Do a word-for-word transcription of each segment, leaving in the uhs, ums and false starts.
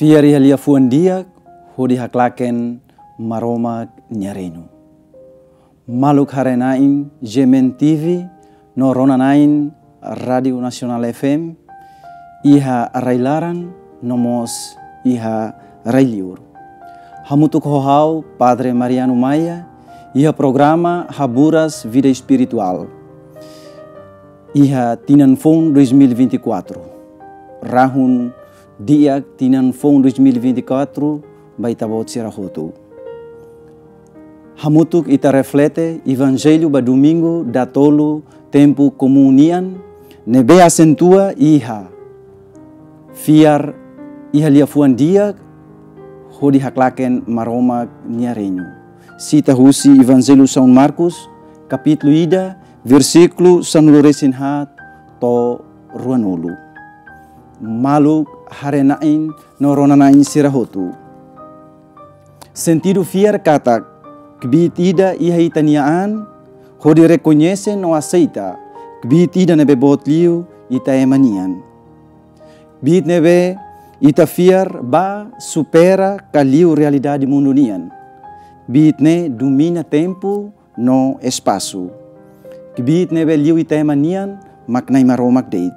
Fiar iha liafuan di'ak hodi haklaken Maromak nia reinu. Maluk haree-na'in G M N T V no rona-na'in Rádiu Nasionál F M, iha rai-laran no mós iha rai-liur. Hamutuk ho ha'u Padre Mariano Maia, iha programa Haburas Vida Espirituál. Iha tinan foun dois mil e vinte e quatro. Rahun di'ak tinan foun dois mil e vinte e quatro ba ita-boot sira hotu. Hamutuk ita reflete Evanjellu ba Domingu datolu tempu komún nian, ne'ebé asentua iha fiar iha liafuan di'ak hodi haklaken Maromak nia reinu. Sita husi Evanjellu São Marcos, kapítulu ida, versíkulu sanulu-resin-haat to'o ruanulu. Maluk haree-na'in no rona-na'in sira hotu. Sentidu fiar katak kbiit ida iha ita-nia an, hodi rekoñese no aseita kbiit ida ne'ebé boot liu ita ema nian. Kbiit ne'ebé ita fiar ba supera ka liu realidade mundu nian. Kbiit ne'e domina tempu no espasu. Kbiit ne'ebé liu ita ema nian mak Na'i Maromak de'it.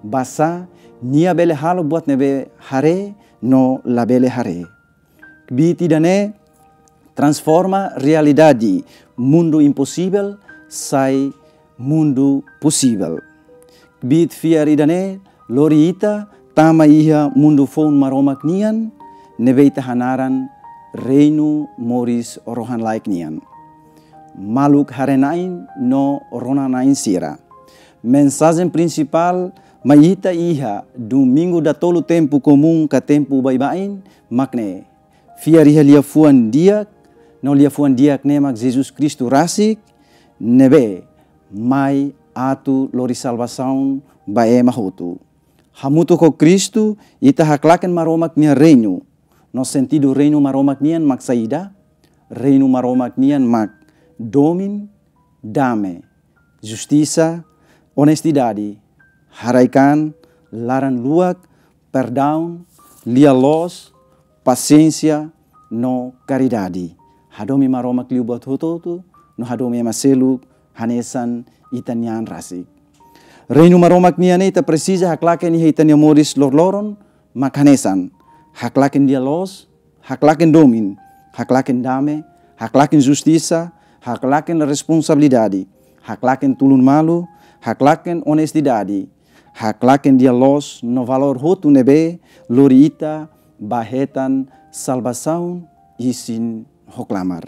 Basá nia bele halo buat ne'ebé haree no labele haree. Kbiit ida-ne'e transforma realidade mundu imposivel sai mundu posivel. Kbiit fiar ida-ne'e lori ita tama iha mundu foun Maromak nian, ne'ebé ita hanaran reinu moris rohan-laek nian. Maluk haree-na'in no rona-na'in sira. Mensajen prinsipál mai ita iha Domingu datolu tempu komún ka tempu baibain mak ne'e: fiar iha liafuan di'ak, no liafuan di'ak ne'e mak Jesus Kristu rasik, ne'ebé mai atu lori salvasaun ba ema hotu. Hamutuk ho Kristu, ita haklaken Maromak nia reinu. No sentidu reinu Maromak nian mak saida? Reinu Maromak nian mak domin, dame, justisa, onestidade, haraik-an, laran-luak, perdaun, lia-loos, pasiénsia, no karidade. Hadomi Maromak liu buat hotu-hotu, no hadomi ema seluk hanesan ita-nia an rasik. Reinu Maromak nian ne'e ita presiza haklaken iha ita-nia moris loroloron, mak hanesan haklaken lia-loos, haklaken domin, haklaken dame, haklaken justisa, haklaken responsabilidade, haklaken tulun malu, haklaken onestidade, haklaken lia-loos no valór hotu ne'ebé lori ita ba hetan salvasaun isin ho klamar.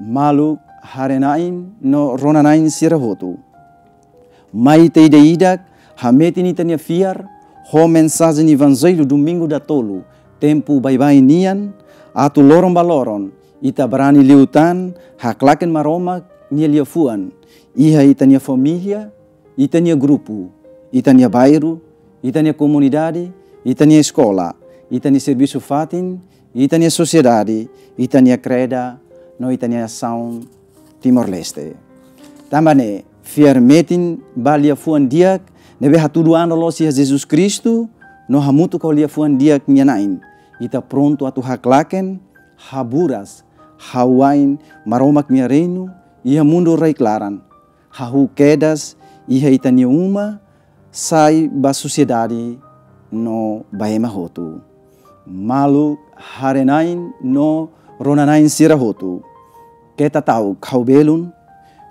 Maluk haree-na'in no rona-na'in sira hotu. Mai ita ida-idak hametin ita-nia fiar ho mensajen Evanjellu Domingu datolu tempu baibain nian, atu loron ba loron ita brani liután haklaken Maromak nia liafuan iha ita-nia família, ita-nia grupu, ita-nia bairru, ita-nia komunidade, ita-nia eskola, ita-nia servisu fatin, ita-nia sosiedade, ita-nia kreda, no ita-nia nasaun Timor-Leste. Tanba ne'e, fiar metin ba liafuan di'ak ne'ebé hatudu an loloos iha Jesus Kristu, no hamutuk ho liafuan di'ak nia na'in, ita prontu atu haklaken, haburas, hawa'in Maromak nia reinu iha mundu rai-klaran, hahú kedas iha ita-nia uma, sai ba sosiedade no ba ema hotu. Maluk haree-na'in no rona-na'in sira hotu. Keta ta'uk ha'u belun,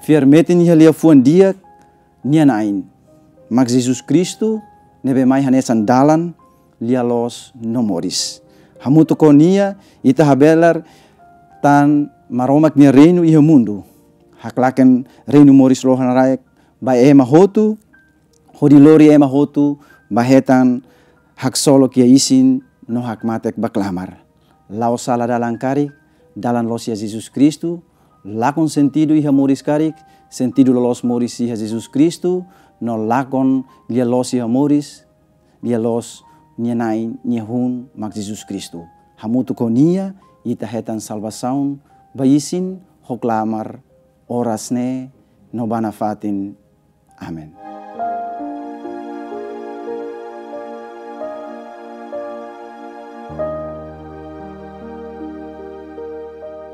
fiar metin iha liafuan di'ak nia na'in, mak Jesus Kristu, ne'ebé mai hanesan dalan, lia-loos no moris. Hamutuk ho nia, ita habelar tan Maromak nia reinu iha mundu. Haklaken reinu moris rohan-laek ba ema hotu, hodi lori ema hotu ba hetan haksolok iha isin no hakmatek ba klamar. La'o sala dalan karik, dalan loos iha Jesus Kristu, lakon sentidu iha moris karik, sentidu loloos moris iha Jesus Kristu, no lakon lia-loos iha moris, lia-loos nia na'in, nia hun mak Jesus Kristu. Hamutuk ho nia, ita hetan salvasaun ba isin ho klamar oras ne'e no ba nafatin. Amen.